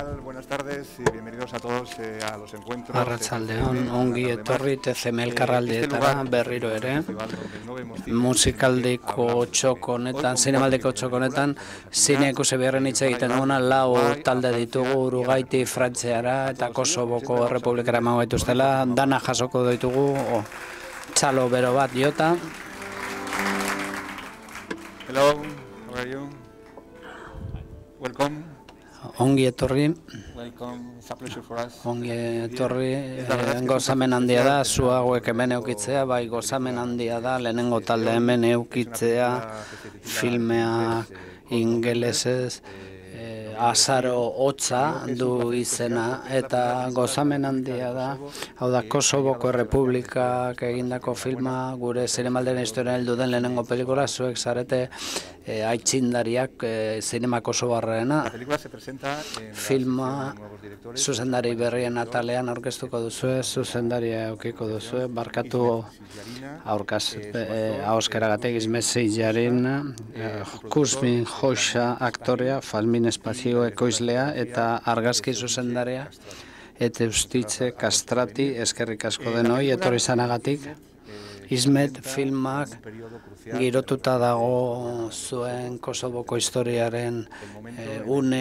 tal? Buenas tardes y bienvenidos a todos a los encuentros. Arratsaldeon, ongi etorri TCM elkarraldietara berriro ere. Musikaldeko txoko honetan, zinemaldeko txoko honetan, zine ikusi beharren hitz egiten duena, lau talde ditugu, Urugaiti, Frantziara eta Kosovoko Errepublikara emango dituztela, dana jasoko ditugu, txalo bero bat jota. Hello, how are you? Welcome. Ongi etorri. Welcome, it's a pleasure for us. Ongi etorri, gozamen handia da, zu hauek hemen eukitzea, bai gozamen handia da, lehenengo talde hemen eukitzea, filmea ingelesez, azaro hotza du izena, eta gozamen handia da, hau da Kosovoko Errepublikak egindako filma, gure zinemalderen historian heldu den lehenengo pelikula, zuek zarete aitzindariak zinema kosovarrena. Filma zuzendari berrien atalean aurkeztuko duzue, zuzendaria eukiko duzue, barkatu ahoskeragatik izmezi jarin, Kuzmin Hoxha aktorea, Falmin Espazio ekoizlea eta argazki zuzendaria, eta ustitze kastrati eskerrik asko denoi, etorri zanagatik. Ismet filmak girotuta dago zuen Kosovoko historiaren une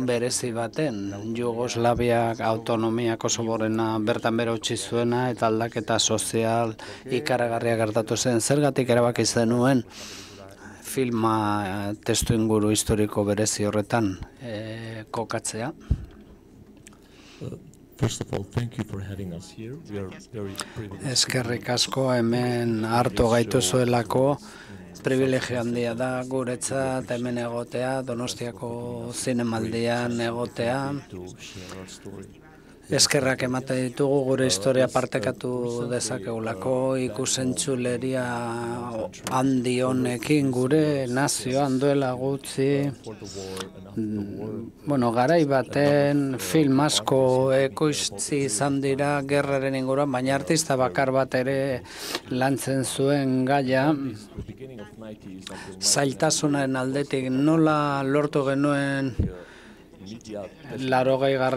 berezi baten, Jugoslaviak autonomia Kosovorena bertan bera utzi zuena eta aldaketa sozial ikaragarria gertatu zen. Zergatik erabaki zenuen filma testu inguru historiko berezi horretan kokatzea? First of all, thank you for having us here. We are very privileged. Eskerrik asko hemen hartu gaituzuelako, privilegio handia da guretzat hemen egotea, Donostiako zinemaldian egotea. Eskerrak ematen ditugu gure historia partekatu dezakegulako, ikusentzuleria handi honekin gure nazioan duela gutxi. Garai baten film asko ekoiztzi izan dira gerraren inguruan, baina artista bakar bat ere lantzen zuen gaia. Zailtasunaren aldetik nola lortu genuen 80.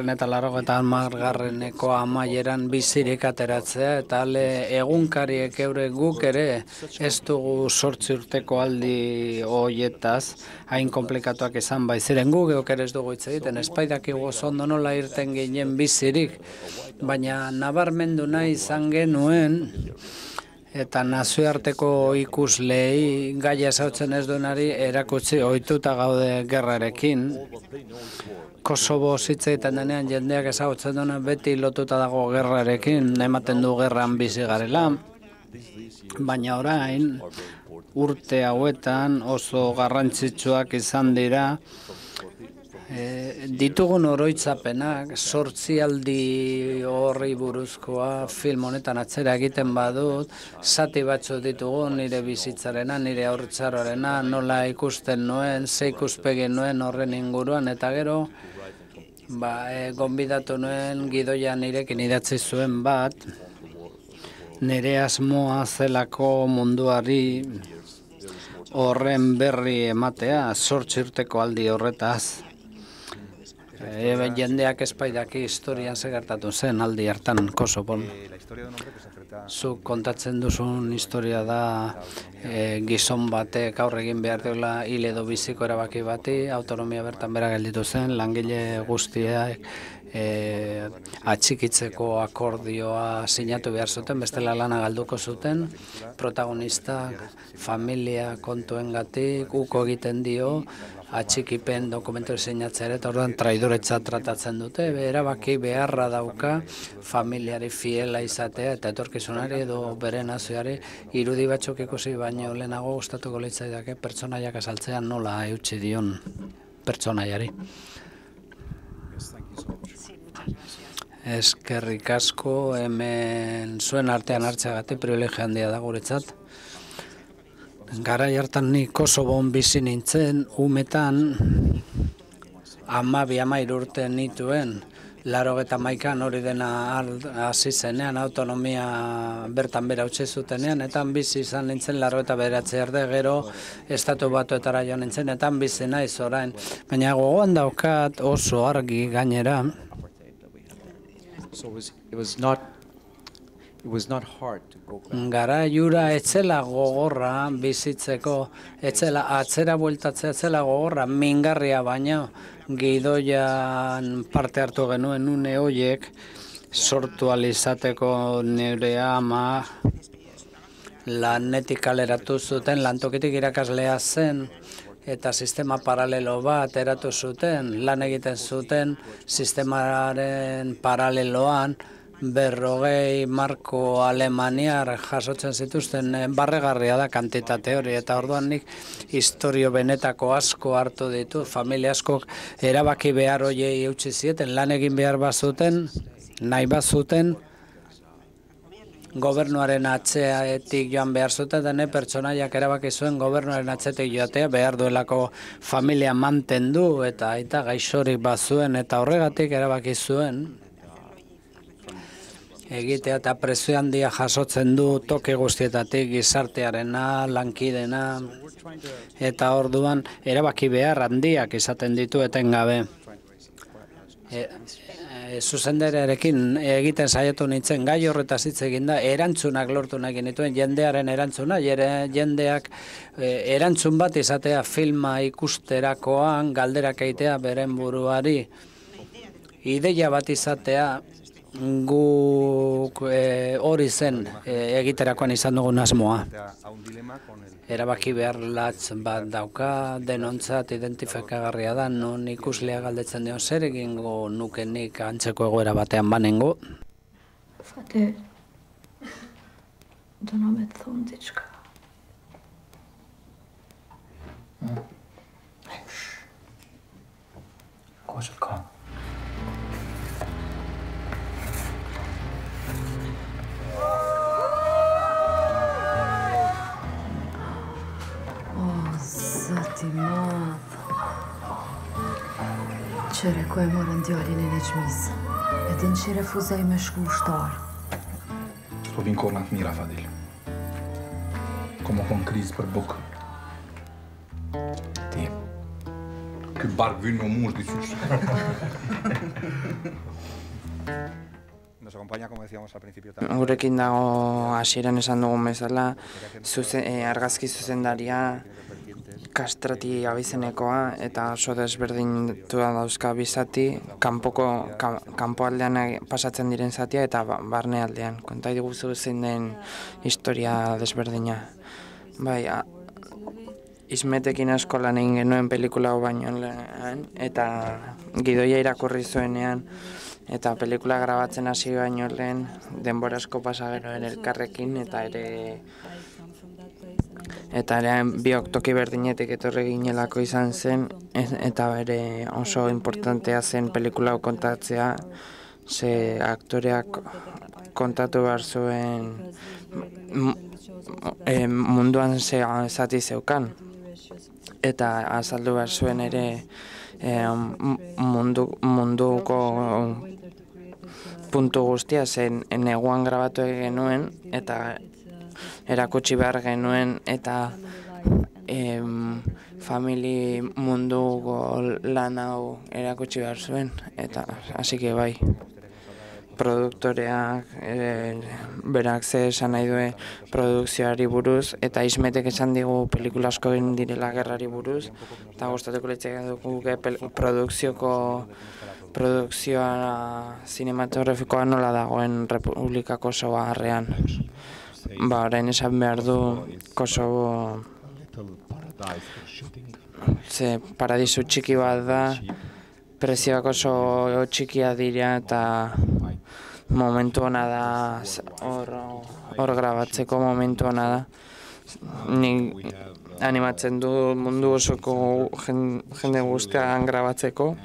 eta 80. amaieran bizirik ateratzea, eta egunkariek eure guk ere ez dugu 8 urteko aldi hoietaz, hain komplikatuak izan baiziren gu geuk ere ez dugu hitz egiten, espaidakigu ondo nola irten ginen bizirik, baina nabarmendu nahi izan genuen, eta nazioarteko ikuslei gaia ezautzen ez duenari erakutsi ohituta gaude gerrarekin. Kosovo hitz egiten denean jendeak ezagutzen duena beti lotuta dago gerrarekin, ematen du gerran bizi garela, baina orain urte hauetan oso garrantzitsuak izan dira ditugun oroitzapenak, 8 aldi horri buruzkoa film honetan atzera egiten badut, zati batzu ditugu nire bizitzarena, nire haurtzaroarena, nola ikusten nuen, ze ikuspegi nuen horren inguruan, eta gero gonbidatu nuen gidoia nirekin idatzi zuen bat, nire asmoa zelako munduari horren berri ematea, 8 urteko aldi horretaz. Jendeak espaidaki historian segertatu zen aldi hartan Kosovon. Zuk kontatzen duzun historia da gizon batek aurre egin behar duela hil edo biziko erabaki bati, autonomia bertan bera gelditu zen, langile guztiak atxikitzeko akordioa sinatu behar zuten, bestela lana galduko zuten, protagonistak familia kontuengatik uko egiten dio, atxikipen dokumentu sinatzea eta orduan traidoretzat tratatzen dute, erabaki beharra dauka familiari fiela izatea eta etorkizunari edo bere nazioari irudi batzuk ikusi baino lehenago gustatuko litzaidake pertsonaiak azaltzean nola eutsi dion pertsonaiari. Eskerrik asko hemen zuen artean hartzeagatik privilegio handia da guretzat. Garai hartan ni Kosovon bizi nintzen, umetan 12-13 urte nituen, laurogeita hori dena hasi zenean, autonomia bertan bera utzi zutenean, eta bizi izan nintzen 89 arte, gero Estatu Batuetara joan nintzen, eta bizi naiz orain. Baina gogoan daukat oso argi gainera. So it was not hard to go back. Garaiura etzela gogorra bizitzeko, etzela atzera bueltatzea etzela gogorra, mingarria baina gidoian parte hartu genuen une horiek sortu alizateko nire ama lanetik kaleratu zuten, lantokitik irakaslea zen, eta sistema paralelo bat eratu zuten, lan egiten zuten sistemaren paraleloan, 40 marko alemaniar jasotzen zituzten, barregarria da kantitate hori, eta orduan nik historio benetako asko hartu ditut, familia askok erabaki behar hoiei eutsi zieten, lan egin behar bazuten, nahi bazuten, gobernuaren atzeatik joan behar zuten, dene pertsonaiak erabaki zuen gobernuaren atzetik joatea behar duelako familia mantendu eta aita gaixorik bazuen, eta horregatik erabaki zuen egitea, eta presio handia jasotzen du toki guztietatik, gizartearena, lankidena, eta orduan erabaki behar handiak izaten ditu etengabe. Zuzendariarekin egiten saiatu nintzen, gai horretaz hitz egin da, erantzunak lortu nahi genituen, jendearen erantzuna, jendeak erantzun bat izatea filma ikusterakoan, galderak egitea beren buruari, ideia bat izatea, guk hori zen egiterakoan izan dugun asmoa. Erabaki behar latz bat dauka, denontzat identifikagarria da, non ikuslea galdetzen dio, zer egingo nukenik antzeko egoera batean banengo? Frate, donamet thondička. Koška. Stimado. Qere ku e morën djalin e Nexmis. E din që refuzoj me shku ushtar. S'po vin kohë të mira, Fadil. Komo kon krizë për bukë. Ti. Ky bark vyn me mush diçysh. Nos acompaña, como decíamos al principio, Gurekin dago hasieran esan dugun bezala, argazki zuzendaria kastrati abizenekoa eta oso desberdintua dauzka bizati, kanpoaldean pasatzen diren zatia eta barnealdean. Konta diguzu zein den historia desberdina. Bai, Ismetekin asko lan egin genuen pelikula hau baino lehen, eta gidoia irakurri zuenean, eta pelikula grabatzen hasi baino lehen, denbora asko pasa gero elkarrekin, eta ere biok toki berdinetik etorri ginelako izan zen, eta ere oso importantea zen pelikula hau kontatzea, ze aktoreak kontatu behar zuen munduan zati zeukan, eta azaldu behar zuen ere munduko puntu guztia zen neguan grabatu genuen eta erakutsi behar genuen eta famili munduko lan hau erakutsi behar zuen, eta hasi que bai. Produktoreak berak ze esan nahi duen produkzioari buruz, eta Ismetek esan digu pelikula asko egin direla gerrari buruz, eta gustatuko litzake dugu produkzioa zinematografikoa nola dagoen Republika Kosovoarrean. Orain esan behar du Kosovo paradisu txiki bat da, prezioak oso txikia dira eta momentu hona da, hor grabatzeko momentu hona da. Nik animatzen du mundu osoko jende guztian grabatzeko,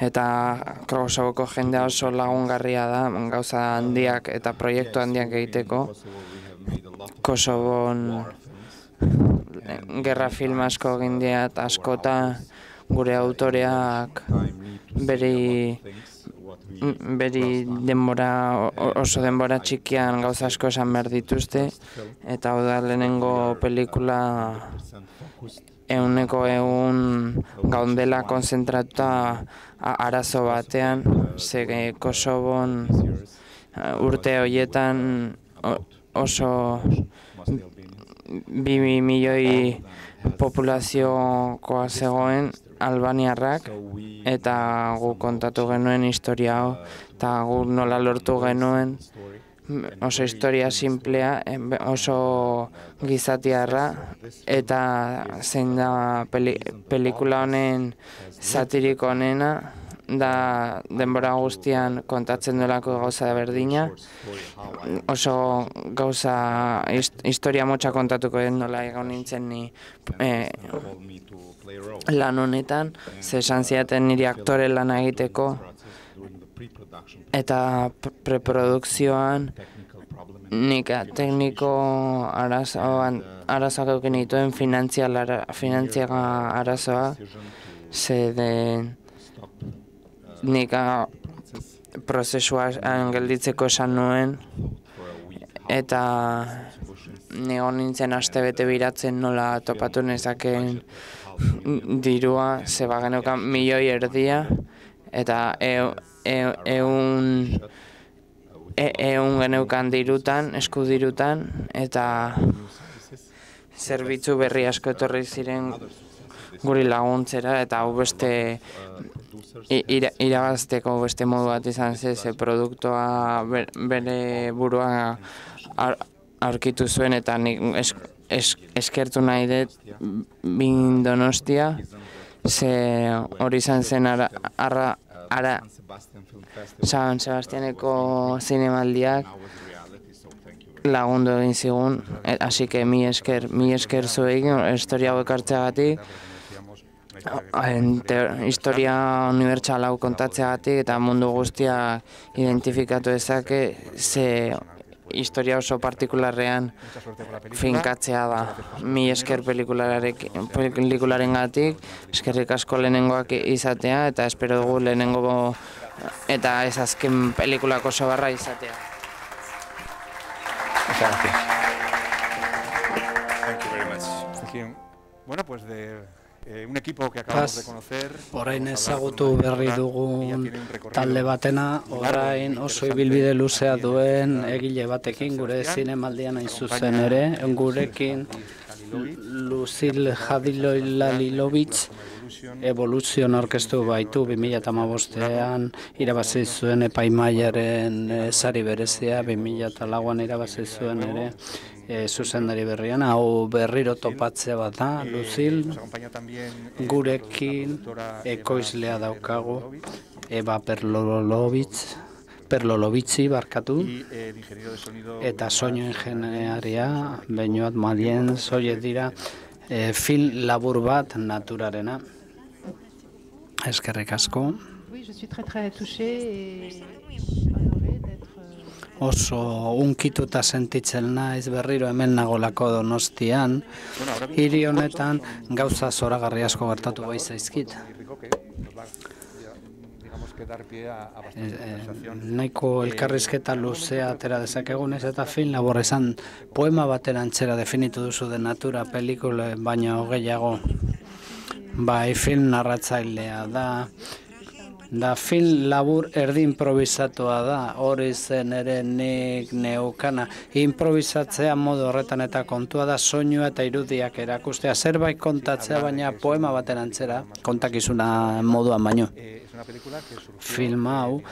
eta Kosovoko jendea oso lagungarria da, gauza handiak eta proiektu handiak egiteko. Kosovon gerra film asko egin diat askota, gure autoreak beri denbora, oso denbora txikian gauza asko esan behar dituzte, eta hau da lehenengo pelikula 100% gaundela konzentratuta arazo batean, ze Kosovon urte horietan oso 2 milioi populaziokoa zegoen albaniarrak, eta gu kontatu genuen historia hau, eta gu nola lortu genuen oso historia simplea, oso gizatiarra, eta zein da pelikula honen satiriko honena, da denbora guztian kontatzen duelako gauza berdina, oso gauza historia motxa kontatuko den nola egon nintzen ni lan honetan, ze esan ziaten niri aktore lana egiteko, eta preprodukzioan nik tekniko arazoak euken dituen finantziaga arazoa, ze nik prozesuan gelditzeko esan nuen, eta nego nintzen astebete biratzen nola topatu nezakeen dirua, ze bageneukan 1,5 milioi, eta ehun geneukan dirutan, eskudirutan, eta zerbitzu berri asko etorri ziren guri laguntzera, eta hau beste irabazteko beste modu bat izan ze produktua bere burua aurkitu zuen, eta nik eskertu nahi dut Bin Donostia, ze hori izan zen San Sebastianeko zinemaldiak lagundu egin zigun, así que mi esker zuei historia hau ekartzeagatik, historia unibertsal hau kontatzeagatik, eta mundu guztia identifikatu dezake, ze historia oso partikularrean finkatzea da. Mi esker pelikularen gatik, eskerrik asko lehenengoak izatea, eta espero dugu lehenengo eta ez azken pelikulako oso barra izatea. Thank you very much. Thank you. Bueno, pues un equipo que acabamos de conocer. Orain ezagutu berri dugun talde batena, orain oso ibilbide luzea duen egile batekin, gure zinemaldian hain zuzen ere, gurekin Lucille Hadiloi-Lalilovic Evolution aurkeztu baitu 2015ean irabazi zuen epaimaiaren sari berezia, 2004an irabazi zuen ere zuzendari berrian, hau berriro topatzea bat da, Lucille, gurekin ekoizlea daukagu, Eva Perlolovici barkatu, eta soinu ingenieria, Beñuat Malien, zoiet dira, film labur bat naturarena. Eskerrik asko. Oso unkituta sentitzen naiz berriro hemen nagolako Donostian. Hiri honetan gauza zoragarri asko gertatu bai zaizkit. Nahiko elkarrizketa luzea atera dezakegunez, eta film labur esan poema baten antzera definitu duzu de natura pelikula baino gehiago. Bai, film narratzailea da film labur erdi improvisatua da, hori zen ere nik neukana. Improvisatzea modu horretan eta kontua da soinua eta irudiak erakustea, zerbait kontatzea baina poema baten antzera, kontakizuna moduan baino. Film hau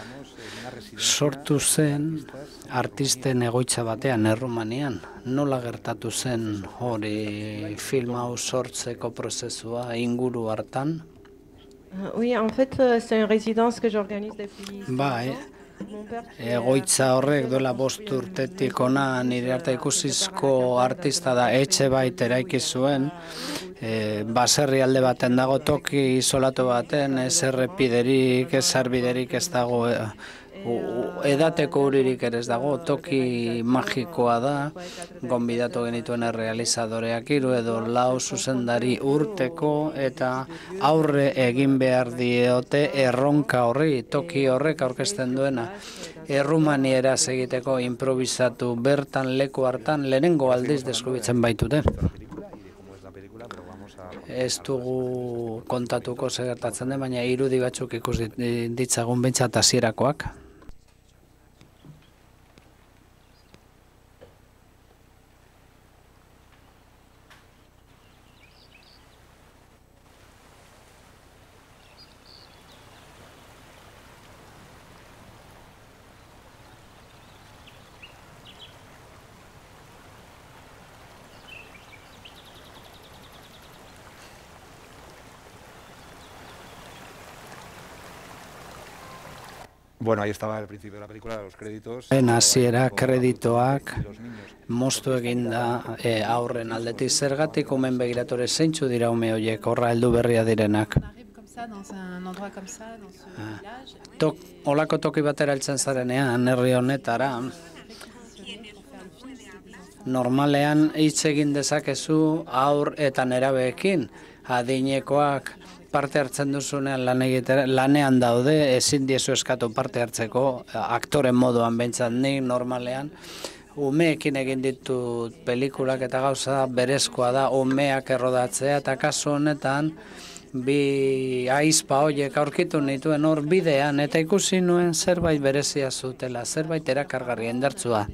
sortu zen artisten egoitza batean Errumanian. Nola gertatu zen hori film hau sortzeko prozesua inguru hartan? Oui, en fait, c'est une résidence que j'organise depuis... Bai, egoitza horrek duela 5 urtetik ona nire arte ikusizko artista da, etxe bait eraiki zuen, baserri alde baten dago, toki isolatu baten, ez errepiderik, ez sarbiderik ez dago, edateko uririk ere ez dago, toki magikoa da, gonbidatu genituen errealizadoreak 3 edo 4 zuzendari urteko, eta aurre egin behar diote erronka horri, toki horrek aurkezten duena. Errumanieraz egiteko improvisatu bertan leku hartan lehenengo aldiz deskubritzen baitute. Ez dugu kontatuko segertatzen den, baina irudi batzuk ikus ditzagun behintzat hasierakoak. Bueno, ahí estaba el principio de la película, los créditos. Hasiera kreditoak moztu eginda aurren aldetik zergatik umen begiratore zeintzu dira ume horiek horra heldu berria direnak. Olako toki batera heltzen zarenean, herri honetara, normalean hitz egin dezakezu aur eta nerabeekin, adinekoak parte hartzen duzunean lanean daude, ezin diezu eskatu parte hartzeko, aktoren moduan behintzat nik normalean. Umeekin egin ditut pelikulak eta gauza berezkoa da umeak errodatzea, eta kasu honetan bi aizpa horiek aurkitu nituen hor bidean, eta ikusi nuen zerbait berezia zutela, zerbait erakargarri indartsua.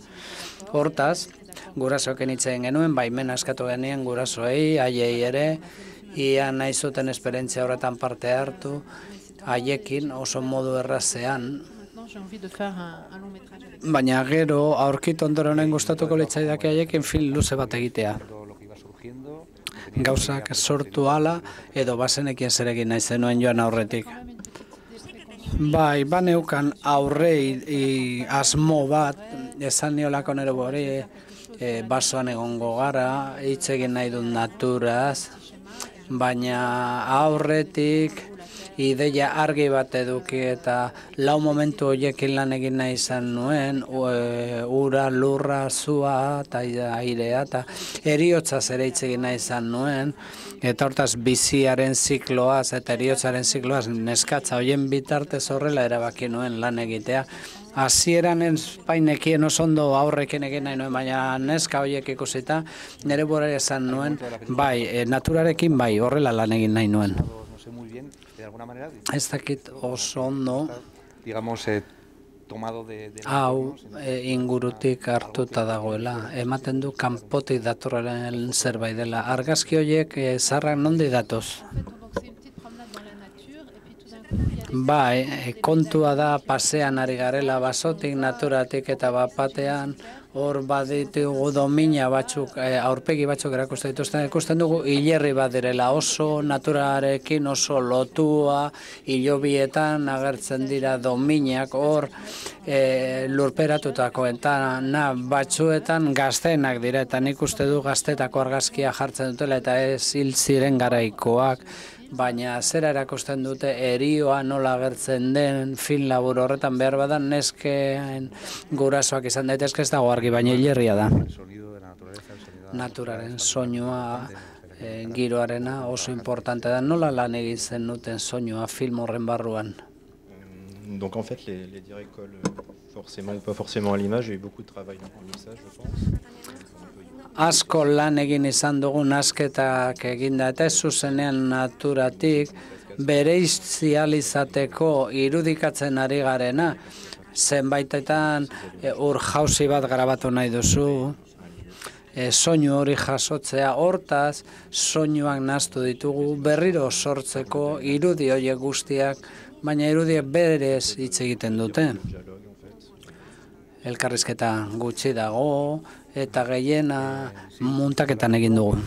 Hortaz, gurasoekin hitz egin genuen, baimena eskatu genien gurasoei, haiei ere, ia nahi zuten esperientzia horretan parte hartu, haiekin oso modu errazean. Baina gero, aurkitu ondoren gustatuko litzaidake haiekin film luze bat egitea. Gauzak sortu ala, edo bazenekien zerekin nahi zenuen joan aurretik. Bai, baneukan aurrei asmo bat, esan niolako nire bori, basoan egongo gara, hitz egin nahi dut naturaz, baina aurretik ideia argi bat eduki eta 4 momentu horiekin lan egin nahi izan nuen, ura, lurra, zua eta airea eta heriotzaz ere hitz egin nahi izan nuen, eta hortaz biziaren zikloaz eta heriotzaren zikloaz neskatza horien bitartez horrela erabaki nuen lan egitea. Hasieran espainekien oso ondo aurrekin egin nahi nuen, baina neska horiek ikusita, nire bora esan nuen, bai, naturarekin bai, horrela lan egin nahi nuen. Ez dakit oso ondo, hau ingurutik hartuta dagoela, ematen du kanpotik datorren zerbait dela. Argazki horiek zarrak nondi datoz? Bai, kontua da pasean ari garela basotik, naturatik eta bapatean, hor baditugu domina batzuk, aurpegi batzuk erakusten dituzten, ikusten dugu hilerri bat direla, oso naturarekin oso lotua, hilobietan agertzen dira dominak, hor lurperatutako, eta batzuetan gazteenak dira, eta nik uste du gaztetako argazkia jartzen dutela, eta ez hil ziren garaikoak, baina zera erakusten dute erioa nola agertzen den film labur horretan behar badan nesken gurasoak izan daitezke ez dago argi, baina hilerria da. Naturaren soinua, giroarena oso importante da. Nola lan egin zen duten soinua film horren barruan? Donc en fait les directs forcément ou pas forcément à l'image, il y a eu beaucoup de travail dans le message, je pense. Asko lan egin izan dugu nasketak eginda eta ez zuzenean naturatik bereizializateko irudikatzen ari garena. Zenbaitetan ur jauzi bat grabatu nahi duzu, soinu hori jasotzea, hortaz soinuak nahastu ditugu berriro sortzeko irudi horiek guztiak, baina irudiek berez hitz egiten dute. Elkarrizketa gutxi dago, eta gehiena muntaketan egin dugu.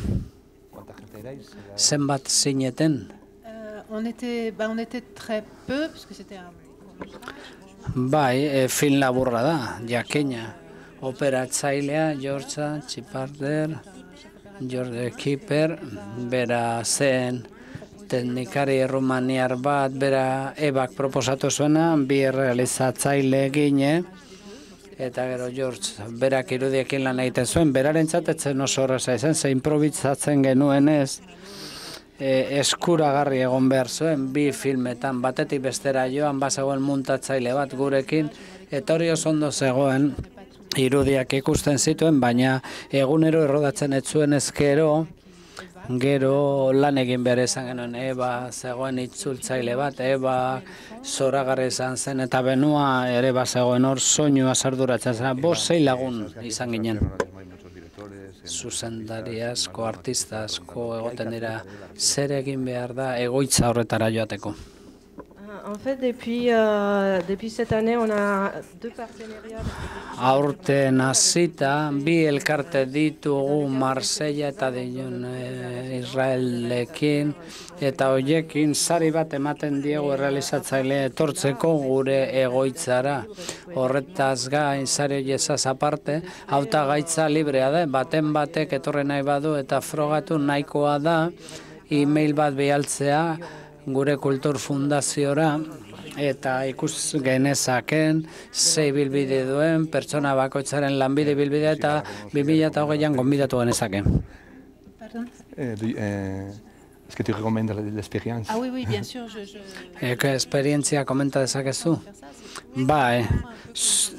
Zenbat zineten? Bai, film laburra da, jakina. Operatzailea, Georgia, Txiparder, George Kieper, bera zen teknikari errumaniar bat, bera ebak proposatu zuena, bi realizatzaile gine, eta gero George berak irudiekin lan egiten zuen, berarentzat etzen oso horreza izan, ze improvisatzen genuenez, eskuragarri egon behar zuen, bi filmetan, batetik bestera joan, bazegoen muntatzaile bat gurekin, eta hori oso ondo zegoen, irudiak ikusten zituen, baina egunero errodatzen ez zuen ezkero, gero lan egin behar izan genuen, Eba zegoen itzultzaile bat, Eba zoragarri izan zen, eta Benua ere bazegoen hor soinua sarduratzen zen, 5-6 lagun izan ginen. Zuzendari asko, artista asko egoten dira, zer egin behar da egoitza horretara joateko. En fait, depuis cette année, on a 2 partenariats. Aurten hasita, bi elkarte ditugu Marsella eta Dijon Israelekin, eta hoiekin sari bat ematen diegu errealizatzaile etortzeko gure egoitzara. Horretaz gain, sari horiezaz aparte, hautagaitza librea da, baten batek etorri nahi badu eta frogatu nahikoa da, e-mail bat bialtzea, gure kultur fundaziora, eta ikus genezaken zei bilbide duen, pertsona bakoitzaren lanbide bilbidea eta 2008an gonbidatu genezaken. Est-ce que tu recommandes l'expérience? Ah oui, bien sûr. Esperientzia komenta dezakezu? Bai,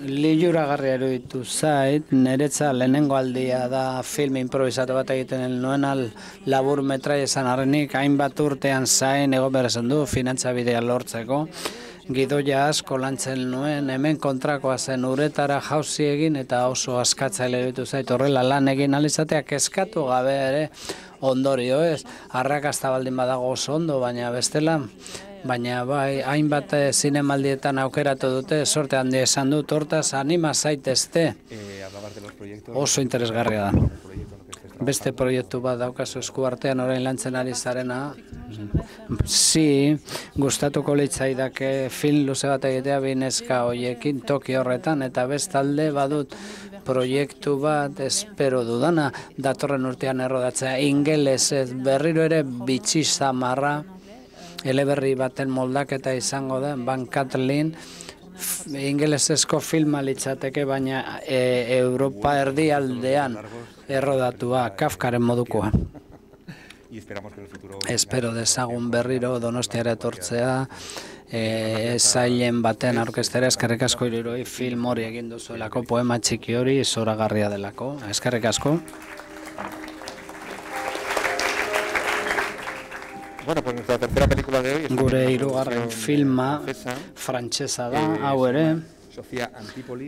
liluragarria eruditu zait, niretza lehenengo aldia da film improvisatu bat egiten nuen labur metrai esan arrenik, hainbat urtean zain egon behar esan du, finantzabidea lortzeko. Gidoia asko lantzen nuen, hemen kontrakoa zen uretara jauzi egin eta oso askatzaile eruditu zait, horrela lan egin alizateak eskatu gabe ere ondorio ez, arrakasta baldin badago oso ondo, baina bestela, baina bai, hainbat zinemaldietan aukeratu dute, sorte handia esan dut, hortaz anima zaitezte, oso interesgarria da. Beste proiektu bat daukazu esku artean orain lantzen ari zarena, gustatuko litzaidake film luze bat egitea bineska hoiekin toki horretan, eta bestalde badut proiektu bat espero dudana, datorren urtean errodatzea, ingelesez berriro ere bitxi zamarra, eleberri baten moldaketa izango da, Van Kathleen, ingelesezko filma litzateke, baina Europa erdialdean errodatua, Kafkaren modukoa. Espero dezagun berriro Donostiara etortzea, zailen baten aurkeztera, eskerrik asko Hiruroi film hori egin duzuelako, poema txiki hori zoragarria delako, eskerrik asko. Gure hirugarren filma frantsesa da, hau ere,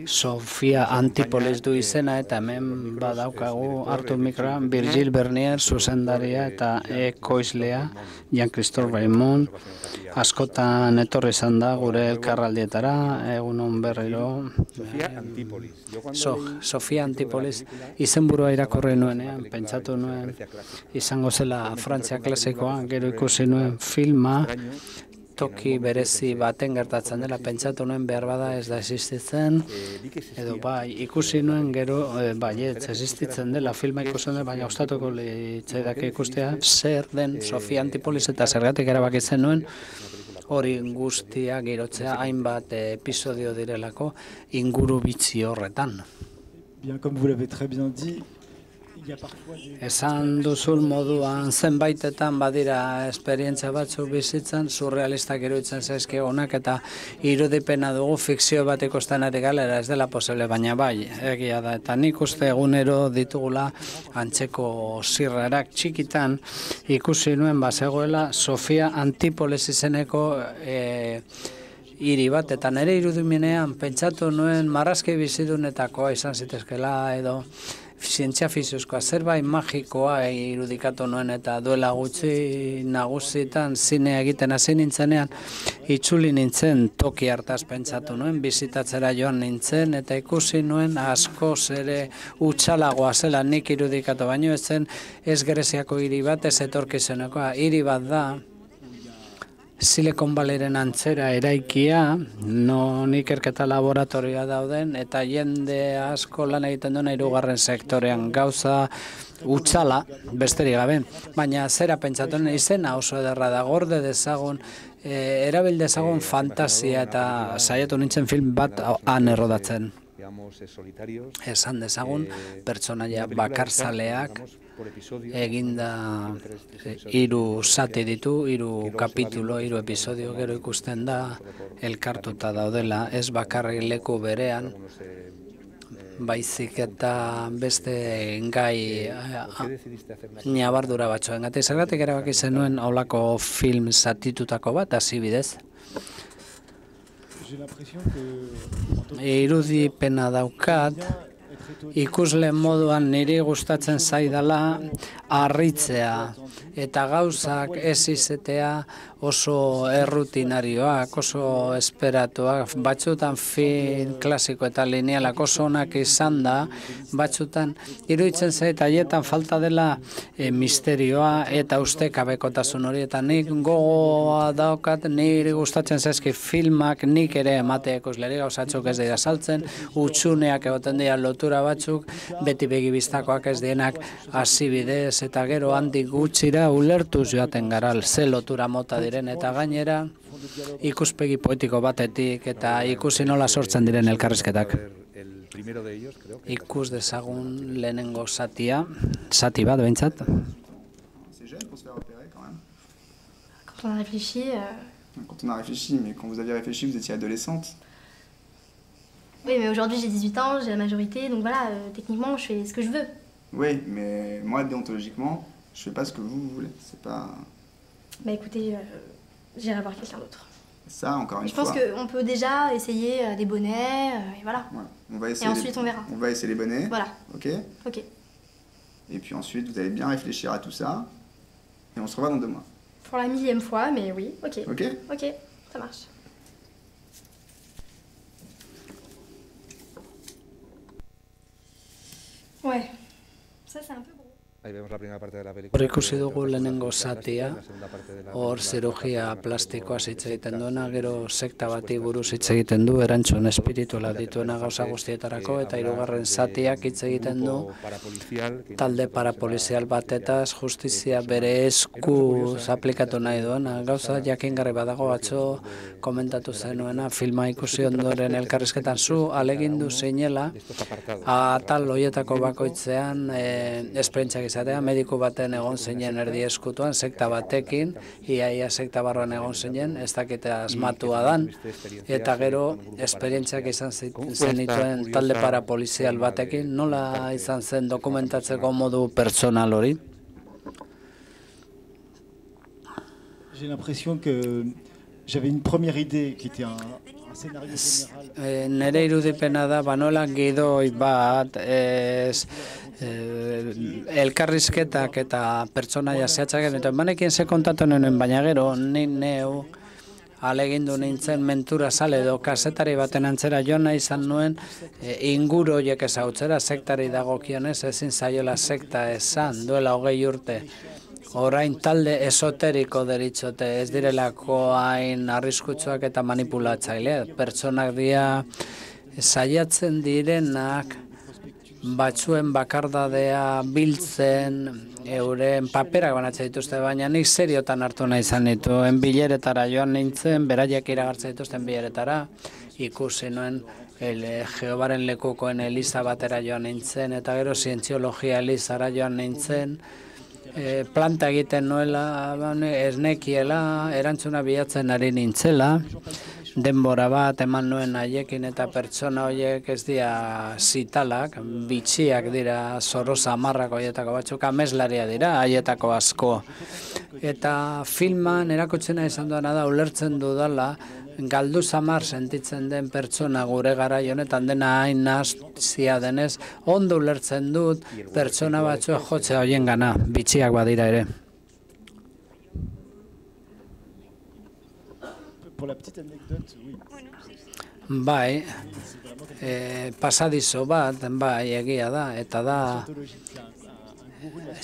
Sofia Antipolis du izena, eta hemen badaukagu hartu mikroa Virgil Bernier, zuzendaria eta ekoizlea, Jean-Christophe Raymond, askotan etorri izan da gure elkarraldietara, egunon berriro. Sofia Antipolis, izenburua irakurri nuenean, pentsatu nuen, izango zela Frantzia klasikoa, gero ikusi nuen filma, toki berezi baten gertatzen dela, pentsatu nuen behar bada ez da existitzen, edo bai, ikusi nuen gero, bai, ez existitzen dela, filma ikusten dela, baina gustatuko litzaidake ikustea, zer den Sofia Antipolis eta zergatik erabakitzen nuen, hori guztia girotzea hainbat episodio direlako inguru bitxi horretan. Bien, comme vous l'avez très bien dit, esan duzun moduan zenbaitetan badira esperientzia batzuk bizitzan, surrealistak iruditzen zaizkigunak eta irudipena dugu fikzio bat ikusten ari galera, ez dela posible, baina bai, egia da. Eta nik uste egunero ditugula antzeko zirrarak txikitan ikusi nuen bazegoela Sofia Antipolis izeneko hiri bat, eta nire irudimenean pentsatu nuen marrazki bizidunetakoa izan zitezkela edo zientzia fiziozkoa, zerbait magikoa irudikatu nuen, eta duela gutxi nagusitan zinea egiten hasi nintzenean, itzuli nintzen toki hartaz pentsatu nuen, bizitatzera joan nintzen, eta ikusi nuen askoz ere hutsalagoa zela nik irudikatu, baino ez zen ez Greziako hiri bat, ez etorkizunekoa, hiri bat da, Silicon Valleyren antzera eraikia, non ikerketa laboratorioa dauden, eta jende asko lan egiten duen 3. sektorean gauza utzala, besterik gabe. Baina zera pentsatuen izena oso ederra da, gorde dezagun, erabil dezagun fantasia eta saiatu nintzen film bat han errodatzen. Esan dezagun, pertsonaia bakarzaleak eginda 3 zati ditu, 3 kapitulo, 3 episodio, gero ikusten da elkartuta daudela, ez bakarrik leku berean, baizik eta beste gai nabardura batzuengatik. Zergatik erabaki zenuen holako film zatitutako bat, hasi bidez? Irudipena daukat, ikusle moduan niri gustatzen zaidala harritzea eta gauzak ez izatea oso errutinarioak, oso esperatuak, batzutan film klasiko eta linealak oso onak izan da, batzutan iruditzen zait haietan falta dela misterioa eta ustekabekotasun hori, eta nik gogoa daukat, niri gustatzen zaizki filmak nik ere ematea ikusleri, gauzatzuk ez dira saltzen, utxuneak egoten dira lotura batzuk, beti begibistakoak ez dienak hasi bidez, eta gero handik gutxira ulertuz joaten gara, ze lotura mota diren, eta gainera ikuspegi poetiko batetik eta ikusi nola sortzen diren elkarrizketak. Ikus dezagun lehenengo zati bat behintzat. Quand on a réfléchi... Quand on a réfléchi, mais quand vous aviez réfléchi, vous étiez adolescente. Oui, mais aujourd'hui j'ai 18 ans, j'ai la majorité, donc voilà, techniquement je fais ce que je veux. Oui, mais moi, déontologiquement, je fais pas ce que vous voulez. C'est pas... Bah écoutez, j'irai voir quelqu'un d'autre. Ça, encore une fois... Je pense qu'on peut déjà essayer des bonnets, et voilà. Ouais, on va essayer et ensuite on verra. On va essayer les bonnets. Voilà. Ok. Ok. Et puis ensuite, vous allez bien réfléchir à tout ça. Et on se revoit dans 2 mois. Pour la 1000e fois, mais oui, ok. Ok. Ok, ça marche. Ouais, ça c'est un peu gros. Hor ikusi dugu lehenengo zatia, hor zirurgia plastikoa hitz egiten duena, gero sekta bati buruz hitz egiten du, erantzun espirituala dituena gauza guztietarako, eta 3. zatiak hitz egiten du talde parapolizial batetaz, justizia bere eskuz aplikatu nahi duena. Gauza jakingarri badago, atzo komentatu zenuena, filma ikusi ondoren elkarrizketan zu alegindu zinela, atal horietako bakoitzean esperientziak izatea, mediku baten egon zinen erdi eskutuan, sekta batekin, iaia sekta barruan egon zinen, ez dakite asmatua dan, eta gero esperientziak izan zenituen talde parapolizial batekin, nola izan zen dokumentatzeko modu pertsonal hori? J'ai l'impression que j'avais une première idée qui était un scénario général. Nere irudipena da, banola gidoi bat, elkarrizketak eta pertsonaia zehatzak egiten, banekin ze kontatu nuen, baina gero, ni neu alegindu nintzen mentura sale edo kasetari baten antzera jona izan nuen inguru horiek ezautzera, sektari dagokionez, ezin zaiola sekta esan, duela 20 urte. Orain talde esoteriko deritzote, ez direlako hain arriskutsuak eta manipulatzaile. Pertsonak dira saiatzen direnak batzuen bakardadea biltzen, euren paperak banatzen dituzte, baina nik seriotan hartu nahi izan dituen bileretara joan nintzen, beraiek iragartzen dituzten bileretara, ikusi nuen Jehovaren lekukoen eliza batera joan nintzen, eta gero zientziologia elizara joan nintzen, planta egiten nuela, ez nekiela, erantzuna bilatzen ari nintzela, denbora bat eman nuen haiekin eta pertsona horiek ez dira zitalak, bitxiak dira, zorro samarrak horietako batzuk, ameslaria dira, haietako asko. Eta filman erakutsena izan duena da, ulertzen dudala, galdu samar sentitzen den pertsona gure garai honetan dena hain nazia denez, ondo ulertzen dut pertsona batzuek jotzea horien gana, bitxiak badira ere. Bai, pasadizo bat, bai, egia da, eta da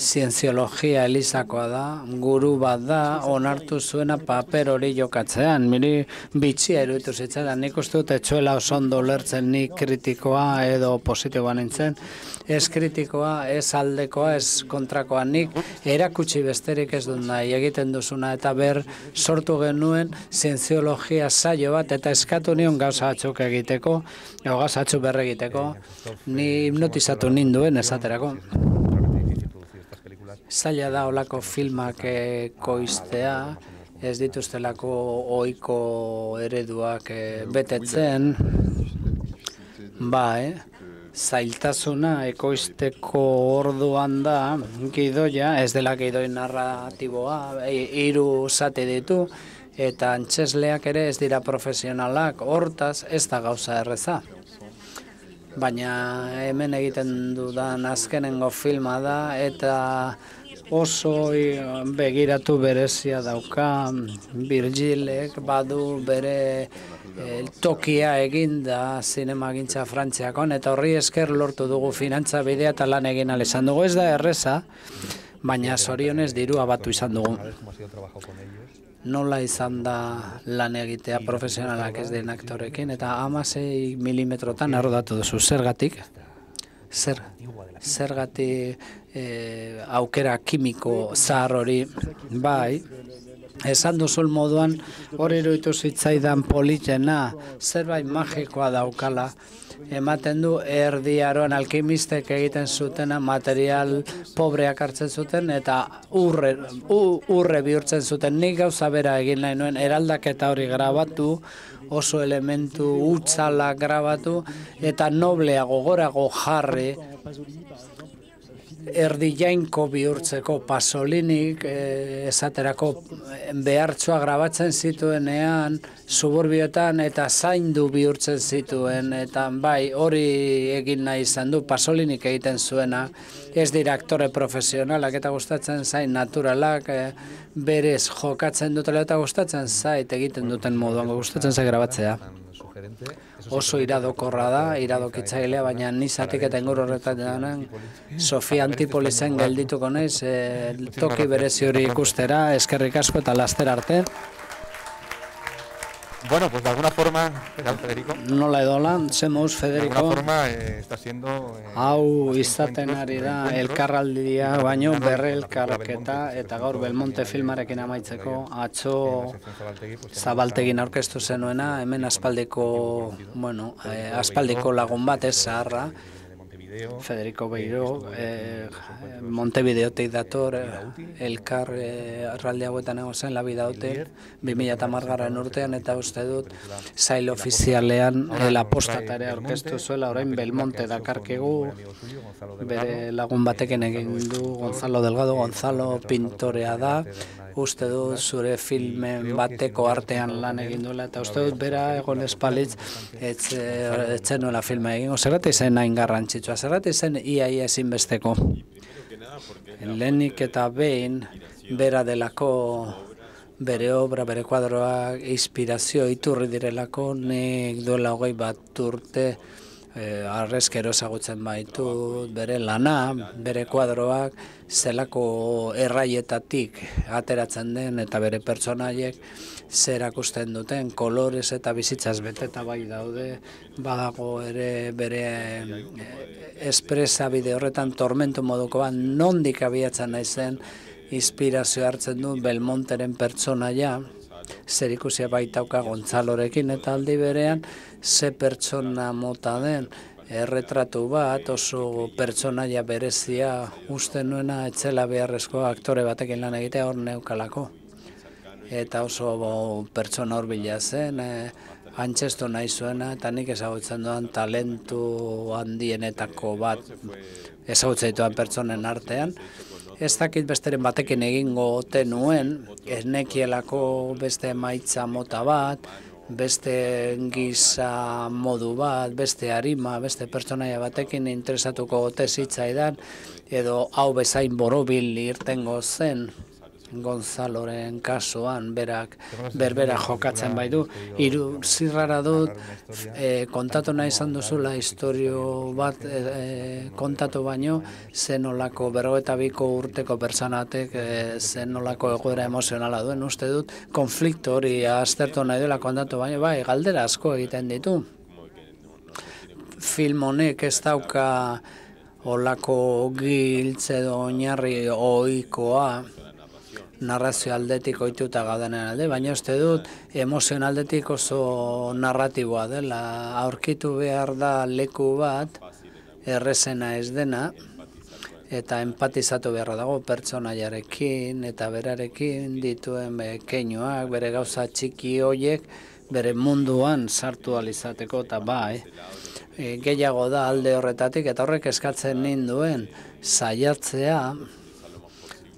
zientziologia elizakoa da, guru bat da, onartu zuena paper hori jokatzean. Miri bitxia iruditu zitzaidan, nik uste dut etxuela oso ondo lertzen nik kritikoa edo positiboa nintzen. Ez kritikoa, ez aldekoa, ez kontrakoa, nik erakutsi besterik ez dut nahi egiten duzuna, eta sortu genuen zientziologia saio bat, eta eskatu nion gauza batzuk egiteko, gauza batzuk berregiteko, ni hipnotizatu ninduen esaterako. Zaila da olako filmak koiztea, ez dituztelako ohiko ereduak betetzen, zailtasuna ekoizteko orduan da, gidoia, ez dela gidoi narratiboa, 3 zati ditu, eta antzesleak ere ez dira profesionalak, hortaz ez da gauza erreza. Baina hemen egiten dudan azkenengo filma da, eta oso begiratu berezia dauka, Virgilek badu bere tokia eginda zinemagintza Frantziakon, eta horri esker lortu dugu finantza bidea eta lan egin ahal izan dugu. Ez da erreza, baina zorionez dirua batu izan dugu. Nola izan da lan egitea profesionalak ez den aktorekin, eta 16 milimetrotan errodatu duzu. Zergatik? Zergatik aukera kimiko zahar hori, bai, esan duzun moduan hori iruditu zitzaidan politena, zerbait magikoa daukala, ematen du Erdi Aroan alkimistek egiten zutena, material pobreak hartzen zuten eta urre bihurtzen zuten. Nik gauza bera egin nahi nuen, eraldaketa hori grabatu, oso elementu hutsala grabatu eta noblea gogorago jarri, erdi jainko bihurtzeko. Pasolinik esaterako behartzoa grabatzen zituenean suburbioetan eta zaindu bihurtzen zituen, eta bai hori egin nahi izan du. Pasolinik egiten zuena, ez dira aktore profesionalak eta gustatzen zain naturalak, berez jokatzen dutela eta gustatzen zait egiten duten moduan, gustatzen zait grabatzea. Oso iradokorra da, iradokitzailea, baina nizatik eta inguru horretan danan Sofia Antipolizen geldituko naiz, toki berezi hori ikustera, eskerrik asko eta laster arte. Bueno, pues de alguna forma, ¿qué tal, Federico? Nola edola, zemuz, Federico. De alguna forma está siendo... Hau izaten ari da elkarraldia, baino berrelkarketa, eta gaur Belmonte filmarekin amaitzeko, atzo Zabaltegin aurkeztu zenuena, hemen aspaldiko lagun bat ez zaharra, Federico Beiro, Montevideotik dator, elkar arralde hauetan egozen, labida hotel, 2010 urtean, eta uste dut zail ofizialean apostatarea aurkeztu zuela, orain Belmonte dakarkegu, bere lagun batekin egin du, Gonzalo Delgado, Gonzalo pintorea da, uste dut zure filmen bateko artean lan egin duela, eta uste dut bera egon espalitz etzen nuela filma egin. Zergatik zen hain garrantzitsua, zergatik zen iaia ezinbesteko. Lehenik eta behin bera delako bere obra, bere kuadroak inspirazio iturri direlako, nik duela 21 urte arrezkero ezagutzen baitu bere lana, bere kuadroak zelako erraietatik ateratzen den eta bere pertsonaiek zer akusten duten, kolorez eta bizitzaz beteta bai daude, badago ere bere espresa bide horretan tormento moduko bat, nondik abiatzen naizen inspirazio hartzen du Belmonteren pertsonaia, zer ikusia baitauka Gonzalorekin, eta aldi berean ze pertsona mota den, erretratu bat, oso pertsonaia berezia uste nuena etzela beharrezko aktore batekin lan egitea hor neukalako. Eta oso pertsona hurbila zen, antzestu nahi zuena, eta nik ezagutzen duan talentu handienetako bat ezagutzen dituan pertsonen artean. Ez dakit besteren batekin egingo ote nuen, ez nekielako beste emaitza mota bat, beste giza modu bat, beste arima, beste pertsonaia batekin interesatuko ote zitzaidan, edo hau bezain borobil irtengo zen. Gonzaloren kasuan berbera jokatzen bai du. Hiru zirrara dut kontatu nahi izan duzula istorio bat kontatu baino zenolako 52 urteko pertsonatek zenolako egoera emozionala duen. Uste dut konflikto hori aztertu nahi duela kontatu baino, bai, galdera asko egiten ditu. Film honek ez dauka olako giltz edo oinarri ohikoa narrazio aldetik ohituta gaudenen alde, baina uste dut emozionaldetik oso narratiboa dela. Aurkitu behar da leku bat, errezena ez dena, eta empatizatu beharra dago pertsonaiarekin eta berarekin dituen keinuak, bere gauza txiki hoiek, bere munduan sartu alizateko, eta bai, gehiago da alde horretatik, eta horrek eskatzen ninduen saiatzea,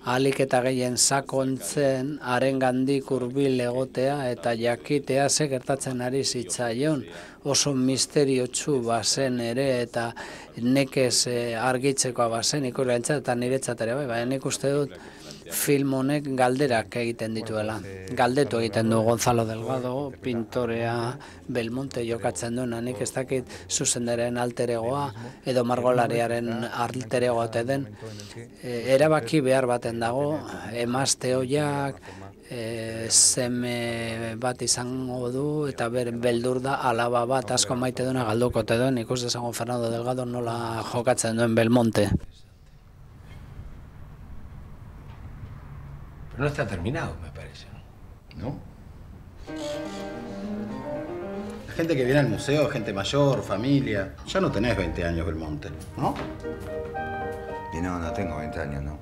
ahalik eta gehien sakontzen, harengandik hurbil egotea eta jakitea ze gertatzen ari zitzaion, oso misteriotsu bazen ere eta nekez argitzekoa bazen ikusleentzat eta niretzat ere bai, baina nik uste dut film honek galderak egiten dituela. Galdetu egiten du Gonzalo Delgado, pintorea Belmonte jokatzen duena, nik ez dakit zuzendaren alteregoa edo margolariaren alteregoa ote den. Erabaki behar baten dago, emazte hoiak, seme bat izango du eta beldur da alaba bat asko maite duena galduko ote duen, ikus dezagun Fernando Delgado nola jokatzen duen Belmonte. Pero no está terminado, me parece, ¿no? La gente que viene al museo, gente mayor, familia. Ya no tenés 20 años, Belmonte, ¿no? Y no tengo 20 años, no.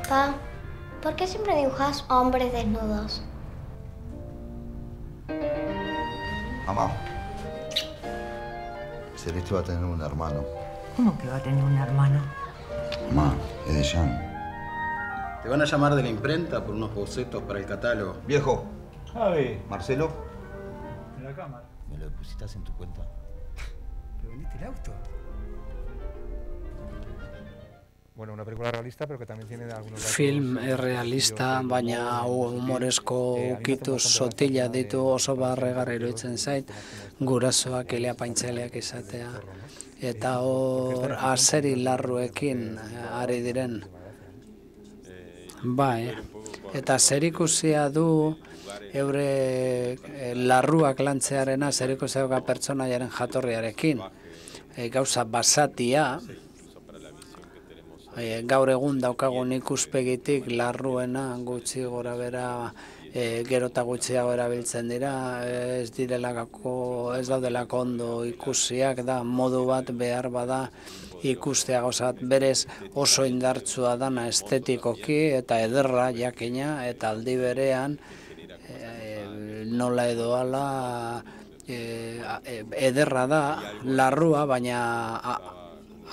Pa, ¿por qué siempre dibujas hombres desnudos? Mamá, Celeste va a tener un hermano. ¿Cómo que va a tener un hermano? Mamá, es de Jean. Te van a llamar de la imprenta por unos bocetos para el catálogo. Viejo. Javi. Marcelo. En la cámara. ¿Me lo depositas en tu cuenta? ¿Te vendiste el auto? Bueno, una película realista, pero que también tiene algunos... Film realista, baina humoresko ukitu sotila ditu oso barregarri iruditzen zait, gurasoak eleapaintzaileak izatea, eta hor azeri larruekin ari diren. Bai, eta zerikusia du eure larruak lantzearena zerikusia duka pertsonaiaren jatorriarekin. Gauza basatia, gaur egun daukagun ikuspegitik larruena gutxi gora bera gero eta gutxiago erabiltzen dira, ez daudelako ondo ikusiak da, modu bat behar bada ikustea gauzat, berez oso indartsua dana estetikoki eta ederra jakina eta aldi berean nola edo ala ederra da, larrua, baina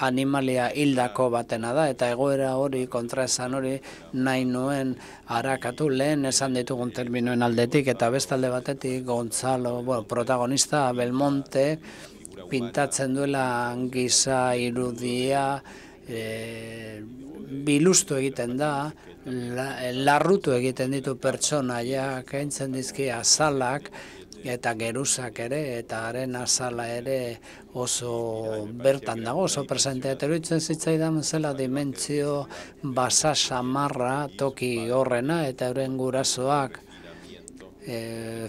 animalia hildako batena da, eta egoera hori, kontraesan hori, nahi nuen harakatu lehen esan ditugun terminoen aldetik, eta bestalde batetik Gonzalo, protagonista Belmonte, pintatzen duela giza irudia, bilustu egiten da, larrutu egiten ditu pertsonaiak, kentzen dizki azalak, eta geruzak ere, eta haren azala ere oso bertan dago, oso presentea. Eta iruditzen zitzaidan zela dimentsio basa samarra toki horrena, eta euren gurasoak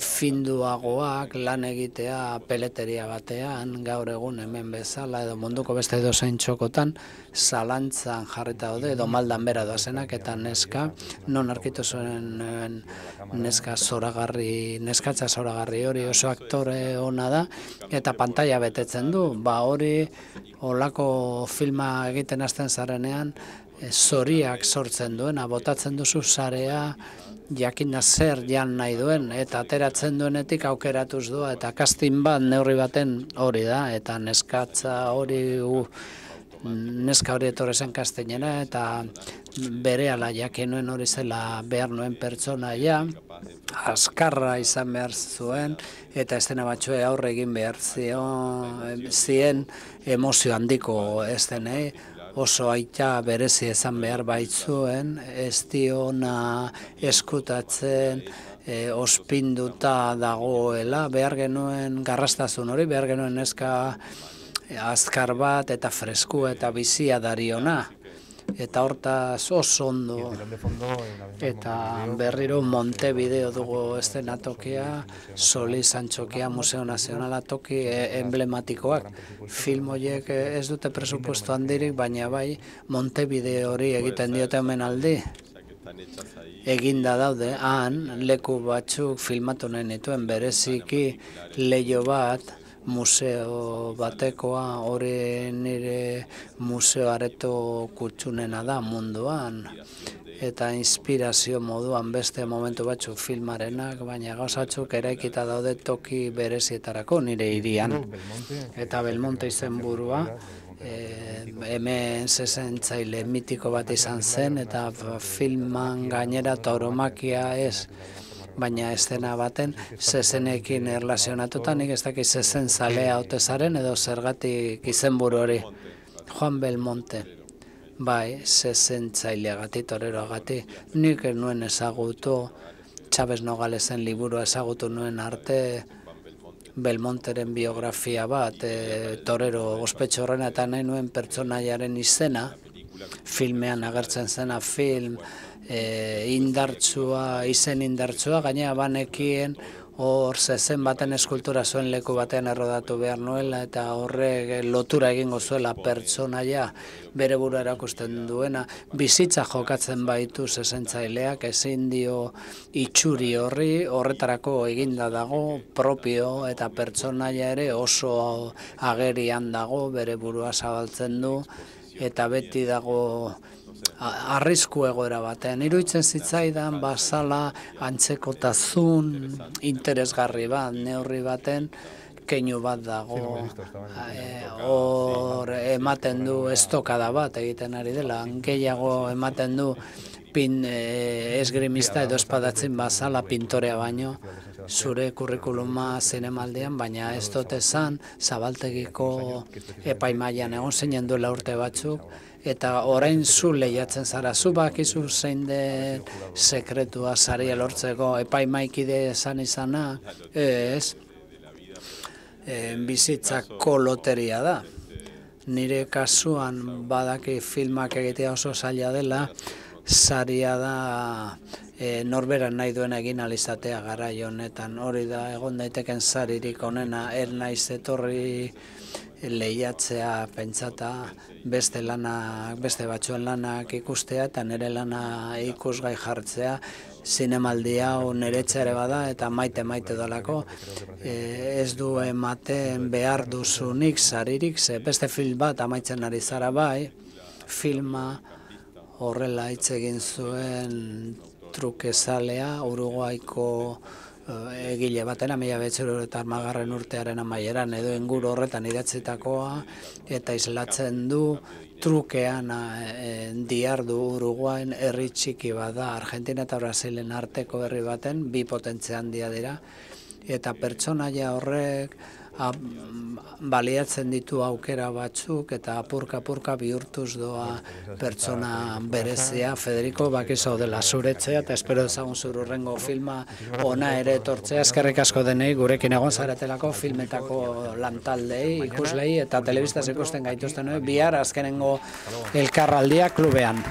finduagoak lan egitea peleteria batean, gaur egun hemen bezala, edo munduko beste edozein txokotan, zalantzan jarrita daude, edo maldan bera doazenak, eta neska, non arkitu zuen neskatza zoragarri hori oso aktore ona da, eta pantalla betetzen du, hori olako filma egiten hasten zarenean, zoriak sortzen duena, botatzen duzu zarea, jakina zer jan nahi duen, eta ateratzen duenetik aukeratuz doa, eta casting bat neurri baten hori da, eta neska hori etorri zen castingera, eta berehala jakin nuen hori zela behar nuen pertsonaia, azkarra izan behar zuen, eta estena batzue aurre egin behar zien emozio handiko estenei, oso aita berezi izan behar baitzuen, ez diona eskutatzen, ospinduta dagoela, behar genuen garrastazun hori, behar genuen neska azkar bat eta fresku eta bizia dariona. Eta hortaz oso ondo, eta berriro Montevideo dugu eszenatokia, Solís Antxokia Museo Nazionala toki emblematikoak. Film horiek ez dute presupuesto handirik, baina bai Montevideo hori egiten diote omenaldi. Eginda daude, han leku batzuk filmatu nahi nituen, bereziki leiho bat, museo batekoa, hori nire museo areto kutxunena da munduan, eta inspirazio moduan beste momentu batzuk filmarenak, baina gauzatzuk eraikita daude toki berezietarako nire hirian. Eta Belmonte izenburua, hemen zezentzaile mitiko bat izan zen, eta filman gainera tauromakia ez, baina eszena baten zezenekin erlazionatuta, nik ez dakit zezen zalea otezaren edo zergatik izenburu hori. Juan Belmonte, bai, zezentzaileagatik, toreroagatik, nik nuen ezagutu, Chavez Nogalesen liburua ezagutu nuen arte, Belmonteren biografia bat, torero ospetxo horrena, eta nahi nuen pertsonaiaren izena, filmean agertzen zena film, indartsua, izen indartsua, gainera banekien hor zezen baten eskultura zuen leku batean errodatu behar nuela, eta horrek lotura egingo zuela pertsonaia bere burua erakusten duena, bizitza jokatzen baitu zezentzaileak, ezin dio itxuri horretarako eginda dago, propio eta pertsonaia ere oso agerian dago, bere burua zabaltzen du, eta beti dago arrisku egoera batean. Iruditzen zitzaidan bazala antzekotasun interesgarri bat, neurri baten keinu bat dago, hor ematen du estokada bat egiten ari dela, gehiago ematen du esgrimista edo espadatzen bazala pintorea baino, zure kurrikuluma zinemaldian, baina ez dut esan zabaltegiko epaimailan egon zinen duela urte batzuk, eta orain zu lehiatzen zara, zu bakizu zein den sekretua saria lortzeko epaimaikide esan izana, ez, bizitzako loteria da. Nire kasuan badaki filmak egitea oso zaila dela, saria da norberan nahi duen egin alizatea garai honetan, hori da egon daiteken saririk onena, naiz etorri lehiatzea pentsata beste batzuen lanak ikustea eta nire lana ikusgai jartzea, zinemaldi hau niretzea ere bada eta maite dolako, ez du ematen behar duzunik saririk, ze beste film bat amaitzen ari zara bai, filma horrela hitz egin zuen trukezalea, Uruguaiko egile batena, 1930 urtearen amaieran edo inguru horretan idatzitakoa, eta islatzen du trukean diardu Uruguain herri txiki bada, Argentina eta Brasilen arteko herri baten, bi potentzia handia dira, eta pertsonaia horrek baliatzen ditu aukera batzuk eta apurka bihurtuz doa pertsona berezia. Federico, bakizu dela zuretzea eta espero ezagun zure hurrengo filma ona ere etortzea. Eskerrik asko denei gurekin egon zaretelako, filmetako lantaldei, ikuslei eta telebistaz ikusten gaituzten bihar azkenengo elkarraldia klubean.